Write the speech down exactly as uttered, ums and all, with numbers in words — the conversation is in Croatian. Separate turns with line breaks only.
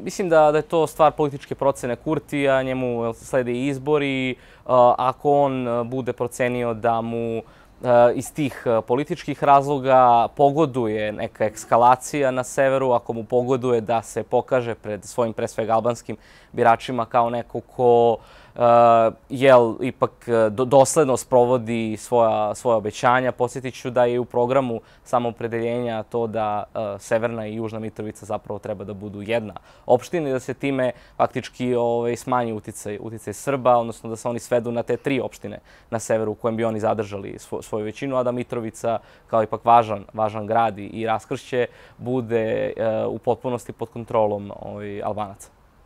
mislim da, da je to stvar političke procene Kurtija, njemu slede izbori. Ako on bude procenio da mu iz tih političkih razloga pogoduje neka ekskalacija na severu, ako mu pogoduje da se pokaže pred svojim, pre svega, albanskim biračima kao neko ko jel, ipak dosledno sprovodi svoja, svoja obećanja. Podsjetit ću da je u programu samoopredeljenja to da Severna i Južna Mitrovica zapravo treba da budu jedna opština i da se time faktički ovaj, smanji uticaj, uticaj Srba, odnosno da se oni svedu na te tri opštine na severu u kojem bi oni zadržali svo, svoju većinu, a da Mitrovica kao ipak važan, važan grad i raskršće bude u potpunosti pod kontrolom ovaj, Albanaca.